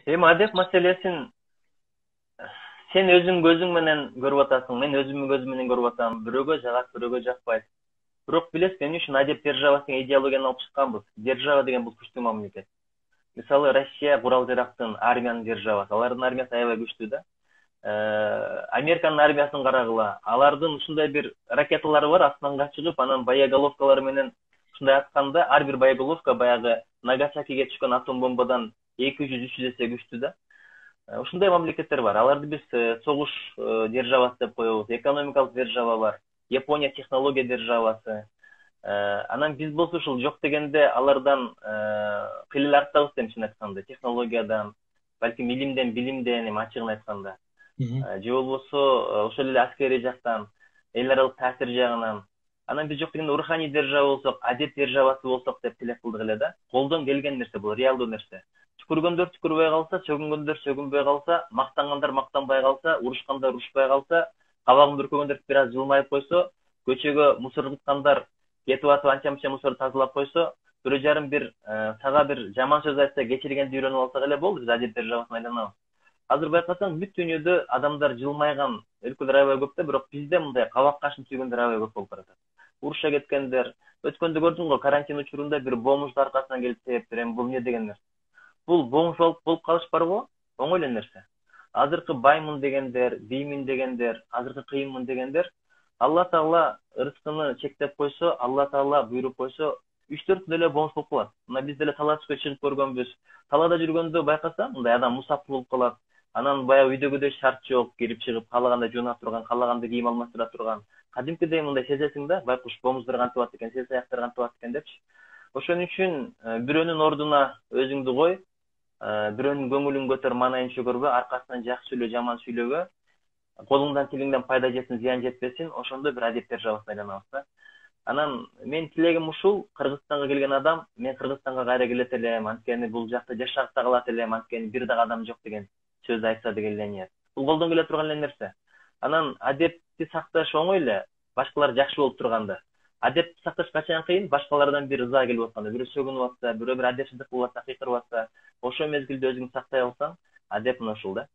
Эми адеп маселесин сен өзүң көзүң менен көрүп атасың, мен өзүмдүн көзүм менен көрүп атам. Бирөөгө жагат, бирөөгө жакпайт. Бирок билесиз, эмне үчүн адеп державасы деген идеологияны алып чыкканбыз? Держава деген бул күчтүү мамлекет. Мисалы, Россия курал жарактын армиянын державасы. Алардын армиясы аябай күчтүү да. Американын армиясын карагыла. Алардын ушундай бир ракеталары бар, асманга чыгып, анан боеголовкалары менен ушундай атканда, ар бир боеголовка баягы Нагасакиге түшкөн атом бомбадан 200-300 эсе күчтүү да. Ушундай мамлекеттер бар. Аларды биз согуш державасы деп коебуз. Экономикалык держава бар. Япония технология державасы. Анан биз болсо ушул жок дегенде алардан кыйла эле артабыз чын айтканда. Технологиядан, балким илимден, билимден, эми ачыгын айтканда. Же болбосо ошол эле аскерий жактан, эл аралык таасир жагынан. Анан биз жок дегенде руханий держава болсок, адеп державасы болсок деп тилек кылдык эле да. Колдон келген нерсе бул, реалдуу нерсе. Түкүргөндөр түкүрбөй калса, сөгүнгөндөр сөгүнбөй калса, мактангандар мактанбай калса, урушкандар урушпай калса, кабагын бүркөгөндөр бир аз жылмайып койсо, көчөгө мусор кыткандар кетип атып анча-мынча мусорду тазалап койсо, бирөө жарым бир сага бир жаман сөз айтса, кечиргенди үйрөнүп алсак эле болду, биз адеп державасына айланабыз. Азыр байкасаң, бүт дүйнөдө адамдар жылмайган өлкөлөр аябай көп да, бирок бизде мындай кабак кашын түйгөндөр аябай көп болуп баратат. Уруша кеткендер, өткөндө көрдүң го, карантин учурунда бир бомждун аркасынан келип себептер, эми бул эмне деген нерсе? Бул бомж болуп калыш барбы? Оңой эле нерсе. Азыркы баймын дегендер, биймин дегендер, азыркы кыйынмын дегендер, Алла Таала ырыскыны чектеп койсо, Алла Таала буйруп койсо, 3-4 күндө эле бомж болуп калат. Мына биз деле тала түшкө чыгып көргөнбүз. Талаада жүргөндө байкасаң, мындай адам мусап болуп калат. Анан баягы үйдөгүдөй шарт жок, кирип чыгып, каалаганда жууна турган, каалаганда кийим алмаштыра турган. Кадимкидей мындай сезесиң да, байкуш бомждор кантип атат экен, сез аяктар кантип атат экен депчи. Ошон үчүн бирөөнүн ордуна өзүңдү кой, бирөөнүн көңүлүн көтөр, маанайын чөгөрбө, аркасынан жакшы сүйлө, жаман сүйлөгө, колуңдан тилиңден пайда жетсин, зыян жетпесин, ошондо бир адеп державасына айланабыз да. Анан менин тилегим ушул, Кыргызстанга келген адам, мен Кыргызстанга кайра келет элем, анткени бул жакта жашап да калат элем, анткени бир дагы адам жок деген сөздү айтса деген эле ниет. Бул колдон келе турган эле нерсе. Анан адепти сакташ оңой эле, башкалар жакшы болуп турганда. Адепти сакташ качан кыйын? Башкалардан бир ыза келип атканда, бирөө сөгүнүп атса, бирөө бир адепсиздик кылып атса, кыйкырып атса, ошол мезгилде өзүңдү сактай алсаң, адеп мына ушул да.